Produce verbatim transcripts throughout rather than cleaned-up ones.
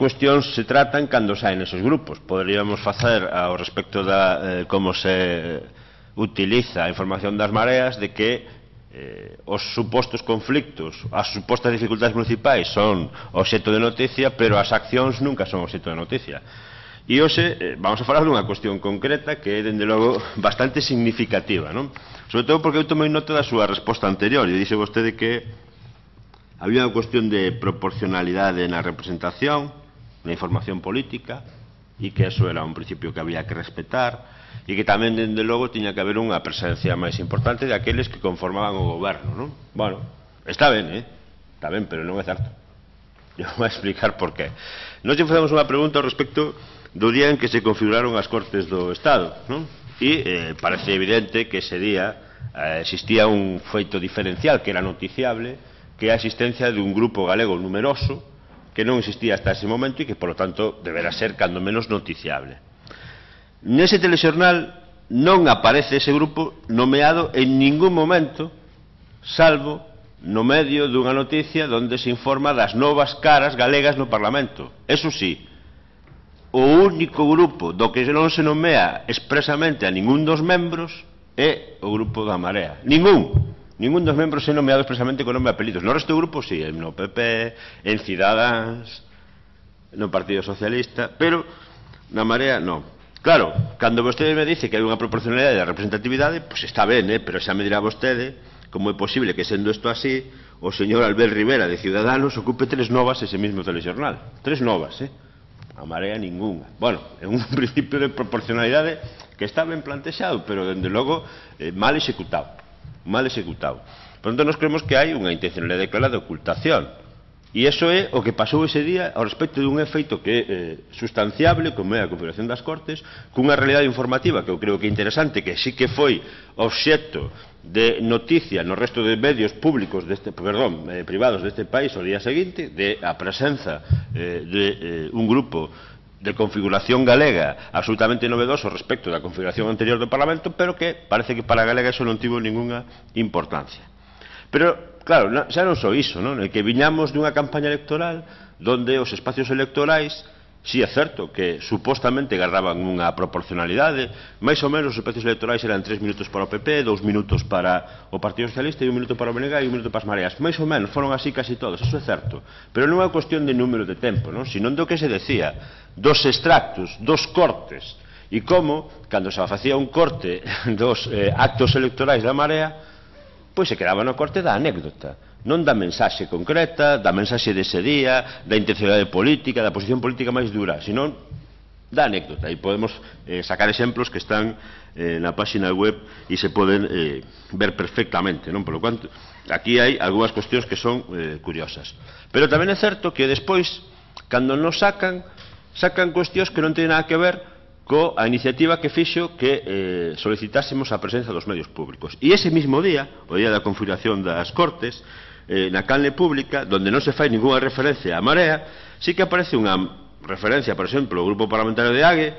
cuestións se tratan cando saen esos grupos. Poderíamos facer ao respecto de eh, como se utiliza a información das mareas, de que eh, os supostos conflictos, as supostas dificultades municipais son obxecto de noticia, pero as accións nunca son obxecto de noticia. E hoxe eh, vamos a falar dunha cuestión concreta que é, dende logo, bastante significativa, non? Sobre todo porque eu tomei nota da súa resposta anterior e dixe vostede que había unha cuestión de proporcionalidade na representación, na información política, e que eso era un principio que había que respetar, e que tamén, dende logo, tiña que haber unha presencia máis importante de aqueles que conformaban o goberno, non? Bueno, está ben, eh? Está ben, pero non é certo. Eu vou explicar por qué. Nós lle facemos unha pregunta ao respecto do día en que se configuraron as Cortes do Estado, non? E eh, parece evidente que ese día eh, existía un feito diferencial que era noticiable, que é a existencia de un grupo galego numeroso que non existía hasta ese momento e que, polo tanto, deberá ser cando menos noticiable. Nese telexornal non aparece ese grupo nomeado en ningún momento, salvo no medio dunha noticia onde se informa das novas caras galegas no Parlamento. Eso sí, o único grupo do que non se nomea expresamente a ningún dos membros é o grupo da Marea. Ningún. Ningún dos membros é nomeado expresamente con nome e apelidos. No resto do grupo, sí, no P P, en Cidadáns, no Partido Socialista, pero na Marea, non. Claro, cando vostede me dice que hai unha proporcionalidade da representatividade, pois está ben, eh? Pero xa me dirá vostede como é posible que, sendo isto así, o señor Albert Rivera de Ciudadanos ocupe tres novas ese mismo telexornal. Tres novas, eh? A Marea ninguna. Bueno, é un principio de proporcionalidade que está ben plantexado, pero, dende logo, eh, mal executado. mal executado. Por tanto, nos creemos que hai unha intencionalidade clara de ocultación. E iso é o que pasou ese día ao respecto dun efeito que é eh, sustanciable, como é a configuración das Cortes, cunha realidade informativa que eu creo que é interesante, que sí que foi obxecto de noticia no resto de medios públicos deste, perdón, eh, privados deste país ao día seguinte, de a presenza eh, de eh, un grupo de configuración galega absolutamente novedoso respecto da configuración anterior do Parlamento, pero que parece que para a galega eso non tivo ninguna importancia. Pero, claro, xa non só iso, non? É que viñamos dunha campaña electoral donde os espacios electorais, si é certo que supostamente agarraban unha proporcionalidade, máis ou menos os espacios electorais eran tres minutos para o P P, dous minutos para o Partido Socialista e un minuto para o B N G e un minuto para as Mareas. Máis ou menos, foron así casi todos, eso é certo. Pero non é unha cuestión de número de tempo, non? Sino do que se decía dos extractos, dos cortes, e como, cando se facía un corte dos eh, actos electorais da Marea, pois se quedaba no corte da anécdota, non da mensaxe concreta, da mensaxe dese día, da intencionalidade política, da posición política máis dura, senón da anécdota. E podemos eh, sacar exemplos que están eh, na página web e se poden eh, ver perfectamente, non? Por lo cuanto, aquí hai algunhas cuestións que son eh, curiosas. Pero tamén é certo que despois, cando nos sacan, sacan cuestións que non teñen nada que ver coa iniciativa que fixo que eh, solicitásemos a presenza dos medios públicos. E ese mismo día, o día da configuración das Cortes, eh, na canle pública, donde non se fai ninguna referencia á Marea, sí que aparece unha referencia, por exemplo, ao Grupo Parlamentario de Ague,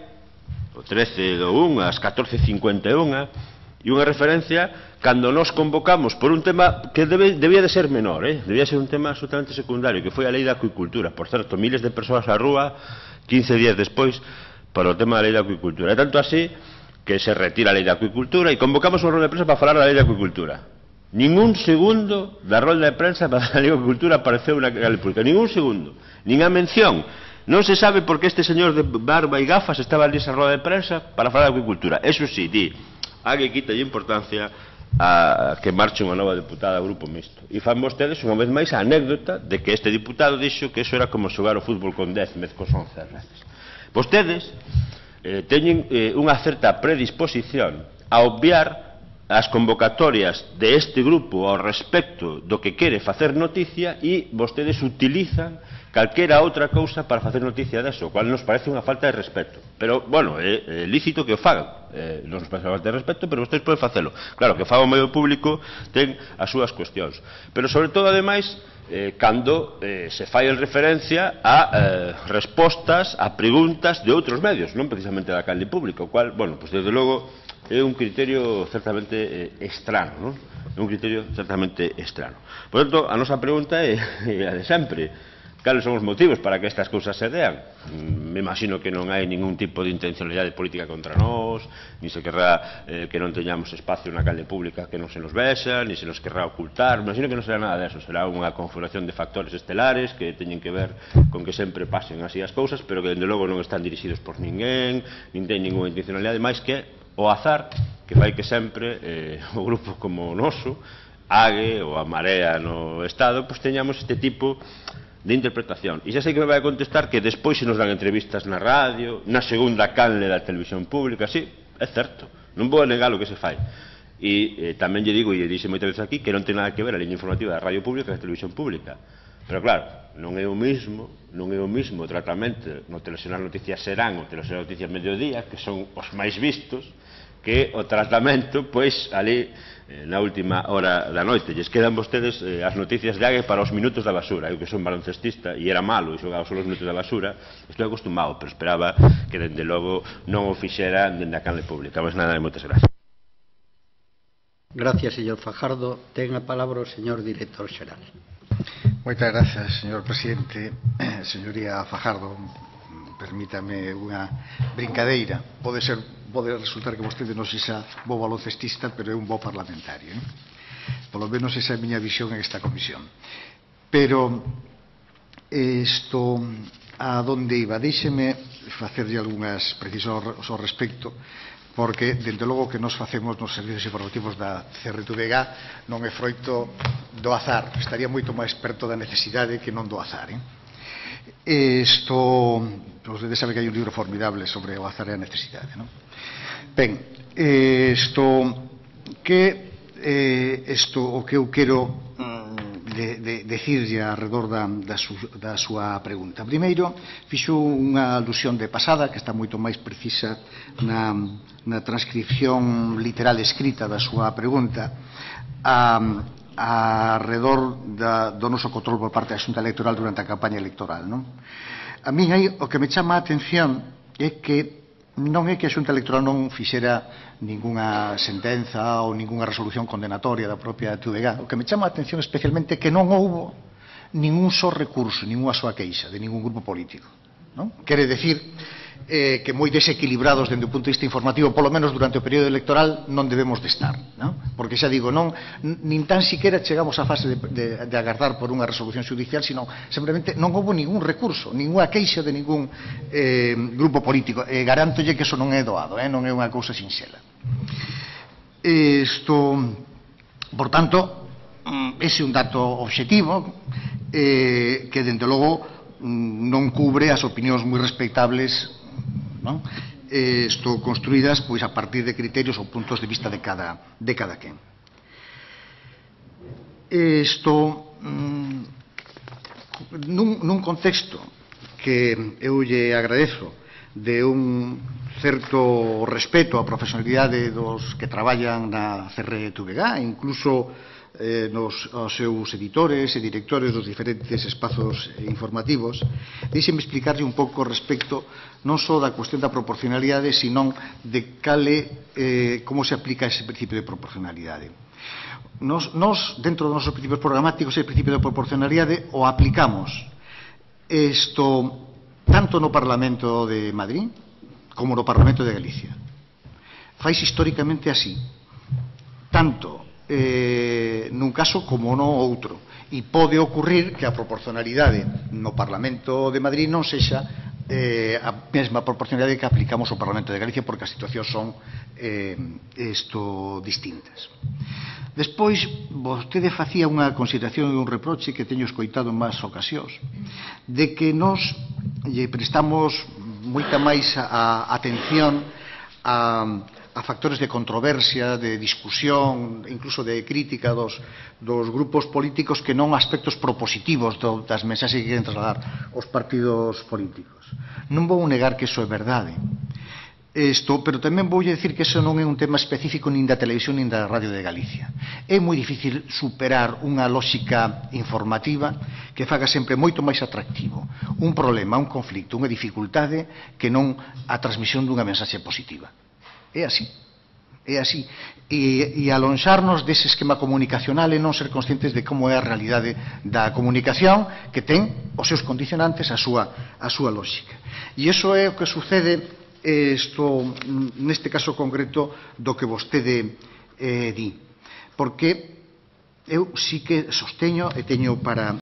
o trece do un, ás catorce cincuenta e un, e unha referencia cando nos convocamos por un tema que debe, debía de ser menor, eh? Debía ser un tema absolutamente secundario, que foi a lei da acuicultura. Por certo, miles de persoas á rúa, quince días despois, para o tema da lei da acuicultura. É tanto así que se retira a lei da acuicultura e convocamos unha rolda de prensa para falar da lei da acuicultura. Ningún segundo da rolda de prensa para a lei da acuicultura apareceu na canle pública. Ningún segundo. Nin a mención. Non se sabe por que este señor de barba e gafas estaba ali esa rolda de prensa para falar da acuicultura. Eso sí, di, a que quita importancia a que marche unha nova deputada ao Grupo Mixto. E fan vostedes unha vez máis a anécdota de que este diputado dixo que eso era como xogar o fútbol con dez mez cos once veces. Vostedes eh, teñen eh, unha certa predisposición a obviar as convocatorias de este grupo ao respecto do que quere facer noticia e vostedes utilizan calquera outra cousa para facer noticia deso, o cual nos parece unha falta de respeto. Pero, bueno, é, é lícito que o fagan. Eh, non nos parece unha falta de respeto, pero vostedes poden facelo. Claro, que faga o medio público ten as súas cuestións. Pero, sobre todo, ademais, eh, cando eh, se fai en referencia a eh, respostas a preguntas de outros medios, non precisamente da canle pública, o cual, bueno, pues desde logo é un criterio certamente eh, estrano, non? É un criterio certamente estrano. Por tanto, a nosa pregunta é, é a de sempre. cales son os motivos para que estas cousas se dean. Me imagino que non hai ningún tipo de intencionalidade política contra nós, ni se querrá eh, que non teñamos espacio na calle pública que non se nos vexa, ni se nos querrá ocultar. Me imagino que non será nada deso, será unha configuración de factores estelares que teñen que ver con que sempre pasen así as cousas, pero que dende logo non están dirixidos por ninguén, nin ten ninguna intencionalidade máis que o azar que fai que sempre eh, o grupo como o noso, AGE ou a Marea no Estado, pois teñamos este tipo de interpretación. E xa sei que me vai a contestar que despois se nos dan entrevistas na radio, na segunda canle da televisión pública. Sí, é certo, non vou a negar o que se fai. E eh, tamén lle digo, e dixe moitas veces aquí, que non ten nada que ver a liña informativa da radio pública e da televisión pública. Pero claro, non é o mismo, non é o mismo tratamento no Telexornal Noticias Serán ou Telexornal Noticias Mediodía, que son os máis vistos, que o tratamento, pois, ali, eh, na última hora da noite. Lles quedan vostedes eh, as noticias de Ague para os minutos da basura. Eu que son baloncestista e era malo e xogaba só os minutos da basura, estou acostumado, pero esperaba que, dende logo, non o fixera dende a canle pública. Mas nada, moitas gracias. Gracias, señor Fajardo. Ten a palabra o señor director xeral. Moitas gracias, señor presidente. Señoría Fajardo, permítame unha brincadeira. Pode ser, pode resultar que vostede non sexa bo baloncestista, pero é un bo parlamentario, non? Polo menos esa é a miña visión en esta comisión. Pero isto a donde iba, deixeme facerlle algunhas precisas ao respecto, porque, dende logo, que nos facemos nos servicios informativos da C R T V G non é froito do azar. Estaría moito máis perto da necesidade que non do azar, eh? Isto, vostede sabe que hai un libro formidable sobre o azar e a necesidade, non? Ben, isto que eh, isto o que eu quero de, de, decirlle alrededor da, da, su, da súa pregunta. Primeiro, fixo unha alusión de pasada que está moito máis precisa na, na transcripción literal escrita da súa pregunta a alrededor da, do noso control por parte da Xunta Electoral durante a campaña electoral, non? A min aí o que me chama a atención é que non é que a Xunta Electoral non fixera ningunha sentenza ou ningunha resolución condenatoria da propia T V G. O que me chama a atención especialmente é que non houbo ningún só recurso, ninguna súa queixa de ningún grupo político, non? Quere decir eh, que moi desequilibrados dende o punto de vista informativo, polo menos durante o período electoral, non debemos de estar, non? Porque xa digo, non, nin tan siquiera chegamos á fase de, de, de agardar por unha resolución judicial, sino simplemente non houbo ningún recurso, ninguna queixa de ningún eh, grupo político. E garantolle que eso non é doado, eh, non é unha cousa sinxela. Isto, por tanto, ese é un dato obxectivo eh, que, dende logo, non cubre as opinións moi respectables, non? Isto construídas pois a partir de criterios ou puntos de vista de cada, de cada quen. Isto nun, nun contexto que eu lle agradezo de un certo respeto á profesionalidade dos que traballan na C R T V G, incluso eh, nos aos seus editores e directores dos diferentes espazos informativos, deixeme explicarlle un pouco respecto non só da cuestión da proporcionalidade, sino de cale, eh, como se aplica ese principio de proporcionalidade. Nos, nos dentro dos nosos principios programáticos, ese principio de proporcionalidade o aplicamos isto tanto no Parlamento de Madrid como no Parlamento de Galicia. Fais históricamente así, tanto eh, nun caso como no outro, e pode ocurrir que a proporcionalidade no Parlamento de Madrid non sexa eh, a mesma proporcionalidade que aplicamos ao Parlamento de Galicia, porque as situacións son eh, esto distintas. Despois, vostede facía unha consideración e un reproche que teño escoitado en máis ocasións, de que nos lle prestamos moita máis a, a atención a, a factores de controversia, de discusión, incluso de crítica dos, dos grupos políticos, que non aspectos propositivos do, das mensaxes que queren trasladar os partidos políticos. Non vou negar que iso é verdade. Isto, pero tamén vou dicir que iso non é un tema específico nin da televisión nin da radio de Galicia. É moi difícil superar unha lógica informativa que faga sempre moito máis atractivo un problema, un conflicto, unha dificultade, que non a transmisión dunha mensaxe positiva. É así. É así. E, e alonxarnos dese esquema comunicacional e non ser conscientes de como é a realidade da comunicación, que ten os seus condicionantes, a súa, a súa lógica. E iso é o que sucede isto, neste caso concreto do que vostede eh, di. Porque eu sí que sosteño e teño para